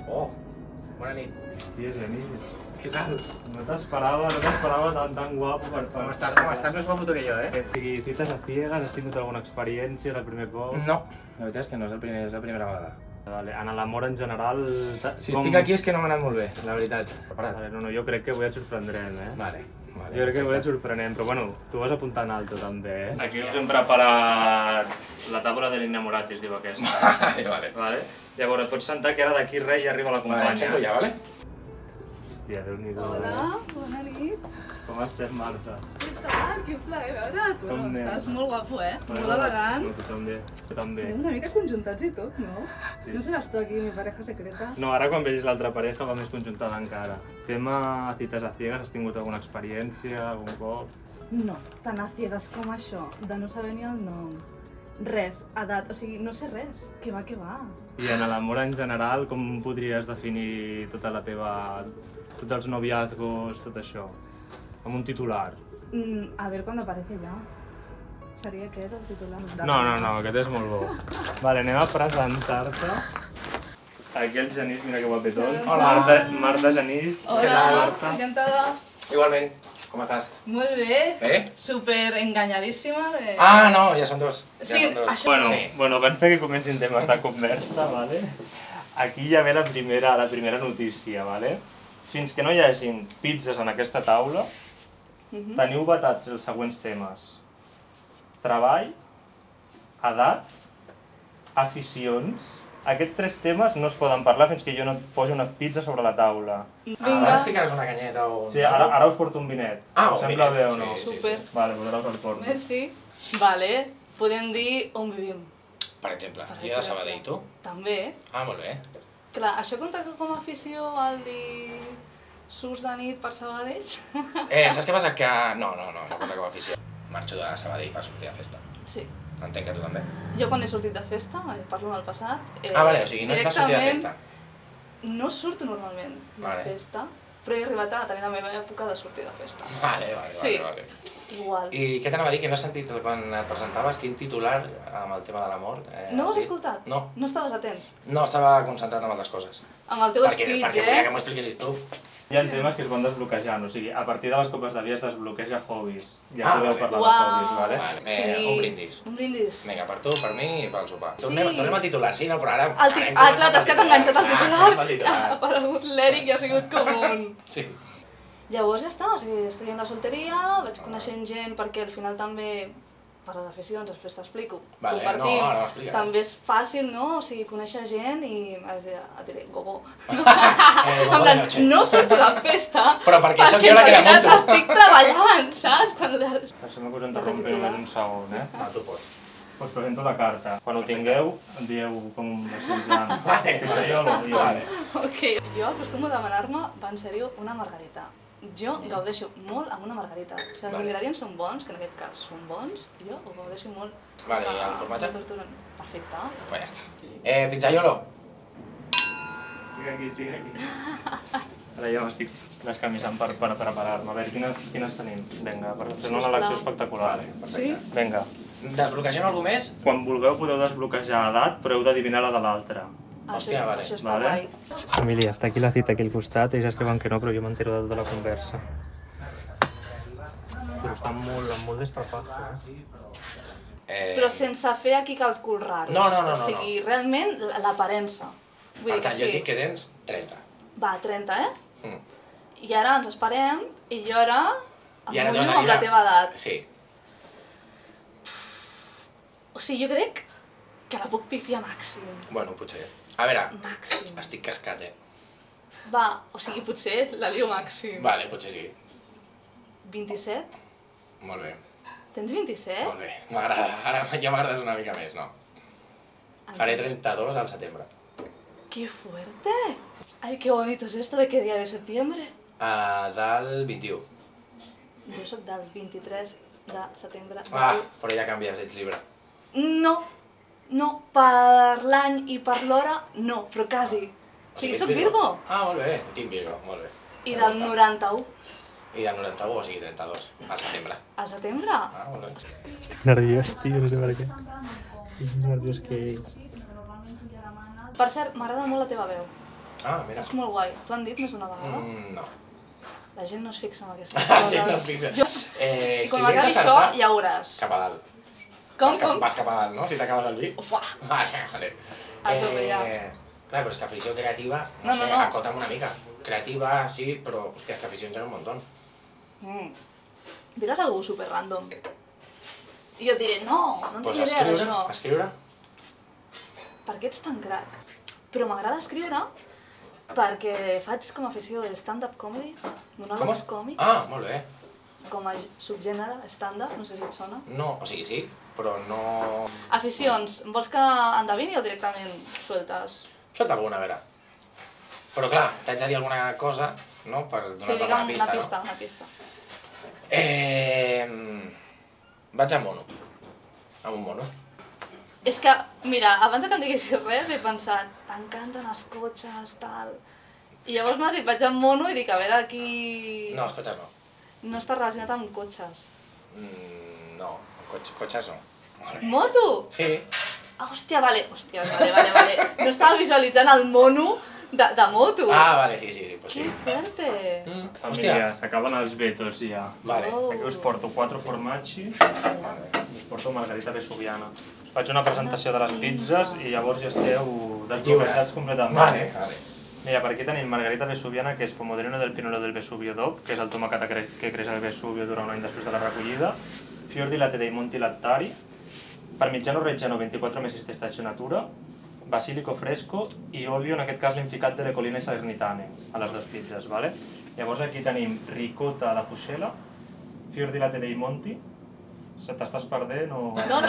Oh, bona nit. Hòstia, Genís. Què tal? No t'esperava tan guapo per Com estàs més guapo que jo, eh? O sigui, cites a ciegas, has tingut alguna experiència el primer cop? No, la veritat és que no, és la primera vegada. Vale, en l'amor en general... Si estic aquí és que no m'ha anat molt bé, la veritat. Vale, no, jo crec que avui et sorprendrem, eh? Vale. Jo crec que avui et sorprenem, però bueno, tu vas apuntar en alto també, eh? Aquí us hem preparat la taula de l'enamorat, es diu aquesta. Vale. Llavors et pots sentar que ara d'aquí res ja arriba la companya. Vale, em sento ja, vale? Hòstia, Déu-n'hi-do. Hola, bona nit. Com estem, Marta? Què tal? Quin plaer veure't. Com anem? Estàs molt guapo, eh? Molt elegant. No, tu també. Una mica conjuntats i tot, no? Sí. No seràs tu aquí, mi pareja secreta? No, ara quan vegis l'altra pareja va més conjuntada encara. Tema cites a ciegas, has tingut alguna experiència, algun cop? No, tan a ciegas com això, de no saber ni el nom. Res, edat, o sigui, no sé res. Què va. I en l'amor en general, com podries definir tota la teva... tots els noviazgos, tot això? Amb un titular. A ver cuando aparece ya. Seria aquest el titular? No, aquest és molt bo. Vale, anem a presentar-te. Aquí el Genís, mira que guapetón. Hola. Marta Genís. Hola, Marta. encantada. Igualment, com estàs? Molt bé. Bé? Super enganyadíssima de... Ah, no, ja són dos. Sí, això Bueno, abans que comencin temes de conversa, vale? Aquí ja ve la primera notícia, vale? Fins que no hi hagin pizzas en aquesta taula, teniu vetats els següents temes. Treball, edat, aficions. Aquests tres temes no es poden parlar fins que jo no et posi una pizza sobre la taula. Ara es ficaràs una canyeta o... Sí, ara us porto un vinet. Ah, us un sembla vinet. bé o no? Sí. Super. Vale, doncs ara us el porto. Merci. Vale, podem dir on vivim. Per exemple, jo de Sabadell, tu? També. Ah, molt bé. Clar, això compta com a afició al dir surts de nit per Sabadell? Saps què passa? Que... No compta com a afició. Marxo de Sabadell per sortir de festa. Sí. Entenc que tu també. Jo quan he sortit de festa, parlo en el passat... Vale, o sigui, no ets de sortir de festa. No surto normalment de festa, però he arribat a tenir la meva època de sortir de festa. Vale. Sí, igual. I què t'anava a dir? Que no has sentit quan et presentaves quin titular amb el tema de l'amor? No ho has escoltat? No. No estaves atent? No, estava concentrat en altres coses. Amb el teu speech, Perquè volia que m'ho expliquessis tu. Hi ha temes que es van desbloquejant, o sigui, a partir de les copes de vi es desbloqueja hobbies. Ja podeu parlar de hobbies, vale? Vale, un brindis. Un brindis. Vinga, per tu, per mi i pel sopar. Tornem al titular, sí, no, però ara... Clar, t'has quedat enganxat al titular. Ha aparegut l'Eric i ha sigut com un... Sí. Llavors ja està, o sigui, estic en la solteria, vaig coneixent gent perquè al final també, per les aficions, després t'explico, compartim, també és fàcil, no? O sigui, conèixer gent i et diré, gogo. En plan, no surto de festa perquè en realitat estic treballant, saps? Deixem-me que us interrompi només un segon, eh? No, tu pots. Us presento la carta. Quan ho tingueu, em dieu com així en plan... Vale. Ok, jo acostumo a demanar-me, va en sèrio, una margarita. Jo gaudeixo molt amb una margarita. Si els ingredients són bons, que en aquest cas són bons, jo ho gaudeixo molt. Vale, i el formatge? Perfecte. Pues ja està. Pizzaiolo. Estic aquí. Ara ja m'estic descamisant per preparar-me. A veure, quines tenim? Vinga, per fer una elecció espectacular. Sí? Vinga. Desbloquegem alguna més? Quan vulgueu podeu desbloquejar edat, però heu d'adivinar la de l'altre. Hòstia, vale. Això està guai. Família, està aquí la cita aquí al costat, ells escriuen que no, però jo m'entero de tota la conversa. Però està molt desperfecte. Però sense fer aquí càlculs raros. No. O sigui, realment, l'aparença. Per tant, jo dic que tens 30. Va, 30, eh? I ara ens esperem, i jo ara em mullo amb la teva edat. Sí. O sigui, jo crec que la puc pifiar màxim. Bueno, potser. A veure, màxim. Estic cascat, Va, o sigui, potser la lio màxim. Vale, potser sí. 27? Molt bé. Tens 27? Molt bé, m'agrada. Ara ja m'agrades una mica més, no? Faré 32 al setembre. ¡Qué fuerte! Ay, qué bonito es esto. ¿De qué día de septiembre? Del 21. Jo soc del 23 de setembre. Però ja canvies, ets llibre. No, per l'any i per l'hora, no, però quasi. O sigui, soc Virgo. Molt bé, tinc Virgo, molt bé. I del 91. I del 91, o sigui 32, al setembre. Al setembre? Molt bé. Estic nerviós, tio, no sé per què. Estic nerviós que és. Per cert, m'agrada molt la teva veu. Ah, mira. És molt guai. T'ho han dit més d'una vegada? No. La gent no es fixa en aquestes coses. La gent no es fixa. I quan m'acabi això, ja ho veuràs. Cap a dalt. Com? Vas cap a dalt, no? Si t'acabes el vi. Ufa! Vale. A tope, ja. Clar, però és que afició creativa, no sé, acota'm una mica. Creativa, sí, però, hòstia, és que aficions hi ha un muntó. Digues algú super random. I jo et diré, no en tinc idea d'això. Escriure? Per què ets tan crac? Però m'agrada escriure perquè faig com a afició de stand-up comedy, monòlegs còmics. Ah, molt bé. Com a subgènere stand-up, no sé si et sona. No, o sigui, sí, però no... Aficions, vols que endevini o directament sueltes? Suelta alguna, a veure. Però clar, t'haig de dir alguna cosa, no? Per donar-te una pista, no? Una pista. Vaig a mono. Amb un mono. És que, mira, abans que em diguessis res he pensat, t'encanten els cotxes, tal... I llavors m'has dit, vaig amb mono i dic, a veure, aquí... No, els cotxes no. No està relacionat amb cotxes. No, cotxes no. Moto? Sí. Ah, hòstia, vale. No estava visualitzant el mono de moto. Ah, vale, sí, pues sí. Que fuerte. Família, s'acaben els vetos ja. Vale. Aquí us porto 4 formaggi i us porto margarita vesuviana. Faig una presentació de les pizzas i llavors ja esteu desbloquejats completament. Vale. Mira, per aquí tenim margarita vesuviana, que és pomodorino del pinolo del Vesuvio DOP, que és el tomàquet que creix al Vesuvio durant un any després de la recollida, fior di latte dei Monti Lattari, parmigiano reggiano 24 mesi di stagionatura, basilico fresco i olio, en aquest cas l'hem ficat de le colline salernitane, a les dues pizzas, vale? Llavors aquí tenim ricota alla fucela, fior di latte dei Monti, se t'estàs perdent o... No,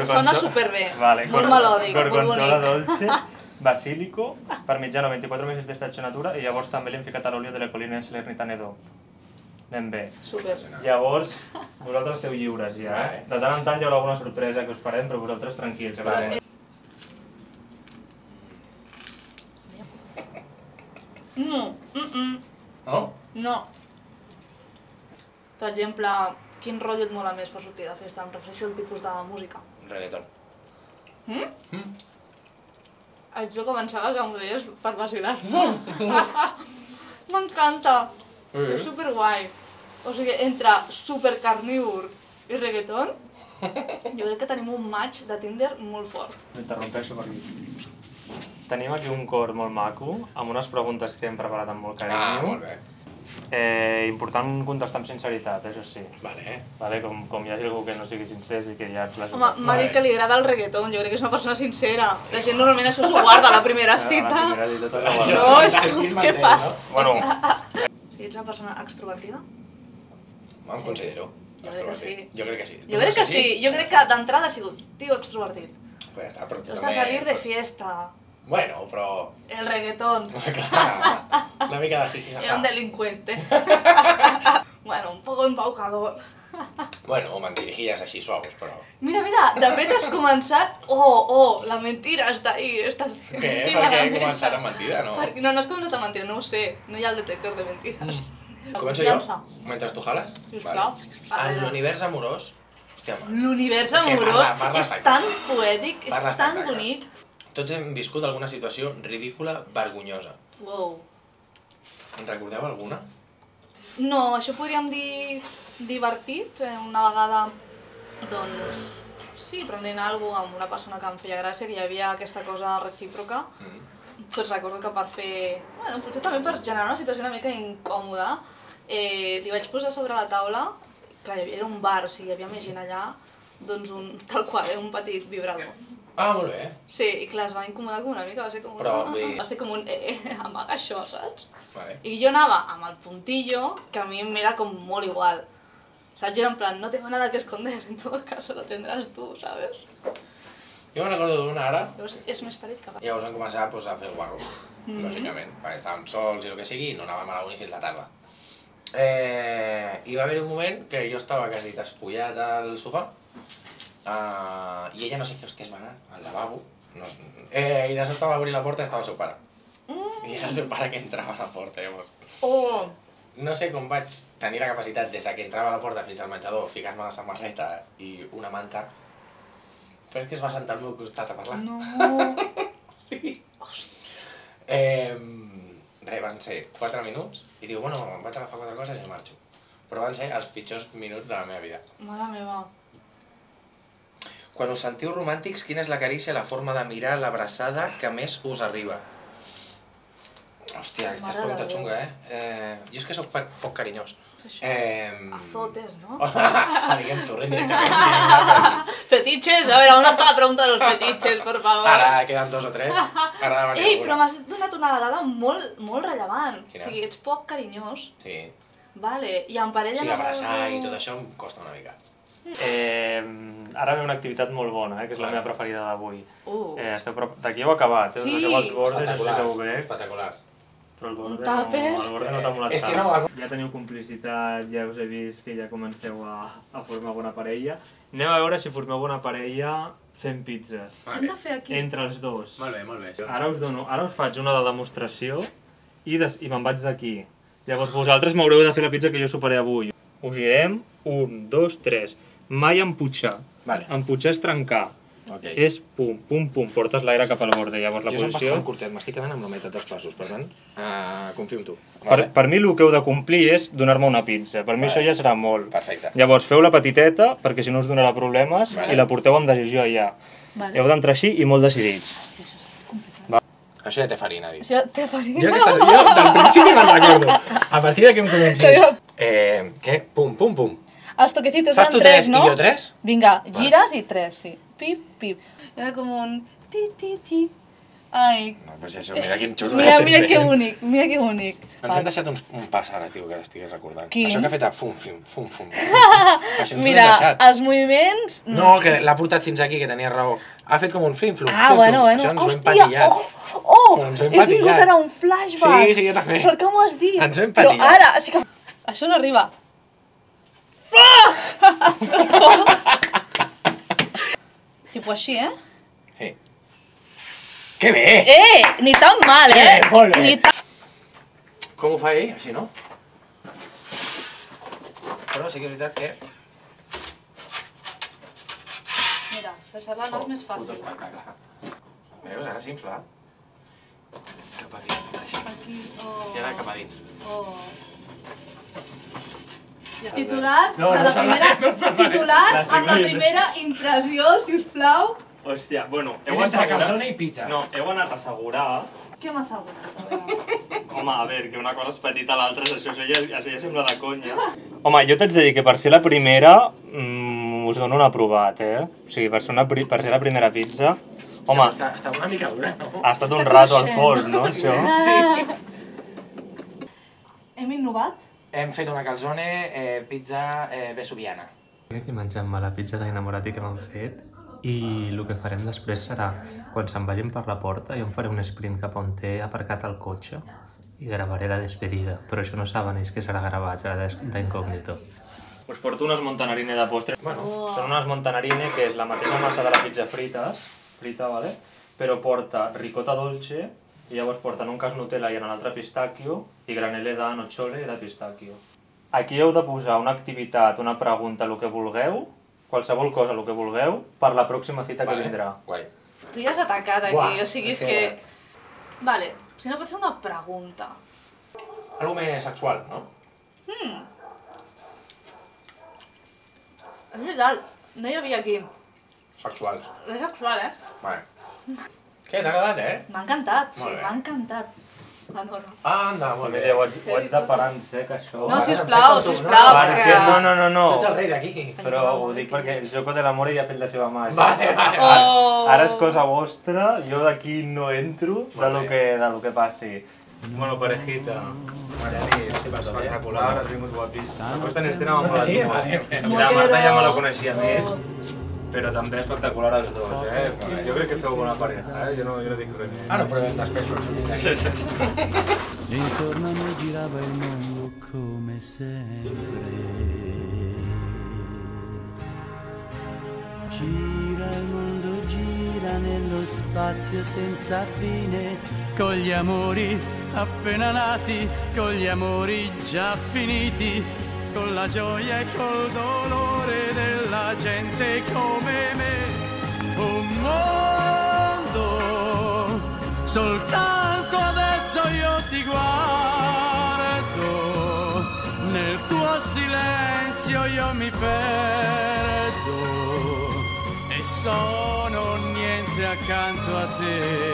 sona superbé, molt melòdic, molt bonic. Gorgonzola dolce, basílico, parmigiano 24 mesi di stagionatura i llavors també l'hem ficat a l'olio de le colline salernitane DOP. Anem bé. Super. Llavors, vosaltres esteu lliures ja, eh? De tant en tant hi haurà alguna sorpresa que us farem, però vosaltres tranquils. Vale. No? No. Per exemple, quin rotllo et mola més per sortir de festa? Em refereixo al tipus de música. Reggaeton. Jo començava que m'ho deies per vacilar-me. M'encanta. És superguai. O sigui, entre supercarnívor i reggaeton, jo crec que tenim un match de Tinder molt fort. M'interrompeixo per aquí. Tenim aquí un cor molt maco, amb unes preguntes que hem preparat amb molt carinyo. Ah, molt bé. Important contestar amb sinceritat, això sí. Vale. Com hi hagi algú que no sigui sincer i que ja ens l'hagi... Home, m'ha dit que li agrada el reggaeton, jo crec que és una persona sincera. La gent normalment això s'ho guarda a la primera cita. No, és que, què fas? Bueno. Si ets una persona extrovertida? Em considero. Jo crec que sí. Jo crec que sí. Jo crec que d'entrada ha sigut tio extrovertit. Pues ja està, però tu també... salir de fiesta. Bueno, però... El reggaetón. Clar, una mica de jiji. Era un delincuente. Bueno, un poco embaucador. Bueno, mentirijillas així suaus, però... Mira, de fet has començat... Oh, la mentira està ahí. Què? Per què començar amb mentida, no? No has començat amb mentida, no ho sé. No hi ha el detector de mentides. Començo jo? Mentre tu jales? Sisplau. En l'univers amorós... Hòstia, l'univers amorós és tan poètic, és tan bonic. Tots hem viscut alguna situació ridícula, vergonyosa. Wow. En recordeu alguna? No, això podríem dir divertit. Una vegada, doncs, sí, prenent alguna cosa amb una persona que em feia gràcia, que hi havia aquesta cosa recíproca. Doncs recordo que per fer, bueno, potser també per generar una situació una mica incòmoda, li vaig posar sobre la taula, clar, era un bar, o sigui, hi havia més gent allà, doncs tal qual, un petit vibrador. Ah, molt bé. Sí, i clar, es va incomodar com una mica, va ser com un amaga això, saps? Vale. I jo anava amb el puntillo, que a mi m'era com molt igual. Saps? Era en plan, no tengo nada que esconder, en todo caso lo tendrás tú, ¿sabes? Jo me'n recordo d'una ara. Llavors és més parit que va. I llavors vam començar a fer el guarro, lògicament, perquè estàvem sols i el que sigui, i no anàvem a la uni fins la tarda. I va haver un moment que jo estava quasi despullat al sofà, i ella no sé què hòsties va anar al lavabo, i de sobte va obrir la porta i estava el seu pare. I era el seu pare que entrava a la porta, llavors. No sé com vaig tenir la capacitat des que entrava a la porta fins al menjador, ficar-me la samarreta i una manta, però és que es va sentar al meu costat a parlar. No! Sí. Res, van ser 4 minuts i diu, bueno, em vaig agafar 4 coses i marxo. Però van ser els pitjors minuts de la meva vida. Mare meva. Quan us sentiu romàntics, quina és la carícia, la forma de mirar, l'abraçada que més us arriba? Hòstia, aquesta és pregunta xunga, Jo és que soc poc carinyós. Azotes, ¿no? Diguem Zurren directament. Fetiches, a veure, on està la pregunta de los fetiches, por favor? Ara queden 2 o 3. Ei, però m'has donat una dada molt rellevant. O sigui, ets poc carinyós. Sí. Vale, i en parella... Sí, abraçar i tot això em costa una mica. Ara ve una activitat molt bona, que és la meva preferida d'avui. D'aquí heu acabat, Sí. Deixeu els bordes, aixequeu bé. Espectaculars. Però el borde tàper. no t'ha molat És que tant. Ja teniu complicitat, ja us he vist que ja comenceu a formar bona parella. Anem a veure si formeu bona parella fent pizzas. Hem de fer aquí. Entre els dos. Molt bé. Ara us faig una de demostració i me'n vaig d'aquí. Llavors vosaltres m'haureu de fer la pizza que jo superé avui. Us girem, 1, 2, 3. Mai emputxar. Emputxar és trencar. És pum, pum, pum, portes l'aire cap al borde. Llavors la posició... Jo soc bastant curtet, m'estic quedant amb la meitat dels passos, per tant, confio en tu. Per mi el que heu de complir és donar-me una pizza. Per mi això ja serà molt. Perfecte. Llavors feu-la petiteta, perquè si no us donarà problemes, i la porteu amb decisió allà. Heu d'entrar així i molt decidits. Això ja té farina, dit. Això té farina? Jo del principi me'n recordo. A partir que em comencis... Què? Pum, pum, pum. Els toquecitos eren 3, no? Fas tu 3 i jo 3? Vinga, gires i 3, sí. Pip, pip. Era com un... ti, ti, ti. Ai. No, pues això, mira quin xurro Mira que bonic, mira que bonic. Ens hem deixat un pas ara, tio, que l'estigui recordant. Quin? Això que ha fet a fum, fum, fum, fum. Mira, els moviments... No, que l'ha portat fins aquí, que tenia raó. Ha fet com un flim-flum. Ah, bueno. Això ens ho hem patillat. He tingut ara un flashback. Sí, jo també. Sort que m'ho has dit. Ens ho hem patillat. Però ara, sí que... Això no arriba. Tipo així, Sí. Que bé! Ni tan mal, Molt bé. Ni tan... Com ho fa ell? Així, no? Però sí que és veritat que... Mira, deixar-la no és més fàcil. Veus? Ara s'infla. Cap a dins, així. I ara cap a dins. Titulat amb la primera impressió, sisplau. Hòstia, bueno, És entre calzone i pizza. No, heu anat a assegurar... Què m'ha assegurat? Home, a veure, que una cosa és petita a l'altra, això ja sembla de conya. Home, jo t'haig de dir que per ser la primera us dono un aprovat, O sigui, per ser la primera pizza... Home, està una mica dura, no? ha estat un rato al forn, no, això? Sí. Hem innovat? Hem fet una calzone pizza vesuviana. Aquí mengem-me la pizza d'enamorati que m'han fet i el que farem després serà, quan se'n vagin per la porta, jo em faré un sprint cap on té aparcat el cotxe i gravaré la despedida, però això no saben ells que serà gravat, serà d'incògnito. Us porto unes montanarine de postre. Són unes montanarine que és la mateixa massa de la pizza frita, vale? Però porta ricota dolce i llavors porten un cas Nutella i en l'altre pistacchio i granelle de nocciole i de pistacchio. Aquí heu de posar una activitat, una pregunta, el que vulgueu, qualsevol cosa, el que vulgueu, per la pròxima cita que vindrà. Guai. Tu ja has atacat aquí, o sigui, és que... Vale, si no pot ser una pregunta. Algo més sexual, no? És veritat, no hi havia aquí. Sexual. És sexual, Vale. Què, t'ha agradat, M'ha encantat, Molt bé. m'ha encantat. La Nora. Anda, molt bé. Ho haig de parar en sec, això. No, sisplau, sisplau. No. Tu ets el rei d'aquí. Però ho dic perquè el joco de l'amor ja ha fet la seva màgia. Vale. Ara és cosa vostra, jo d'aquí no entro de lo que passi. Bueno, parejita. Mariani, espectacular, has vingut guapíssim. La puesta en escena m'ha molat molt. La Marta ja me la coneixia més, però també espectacular els dos, Jo crec que feu bona pareja, jo no dic res més. Ara ho provem després. Intorno a me girava il mondo come sempre. Gira il mondo, gira nello spazio senza fine, con gli amori appena nati, con gli amori già finiti, con la gioia e col dolore della gente come me. Un mondo soltanto adesso io ti guardo, nel tuo silenzio io mi perdo e sono niente accanto a te.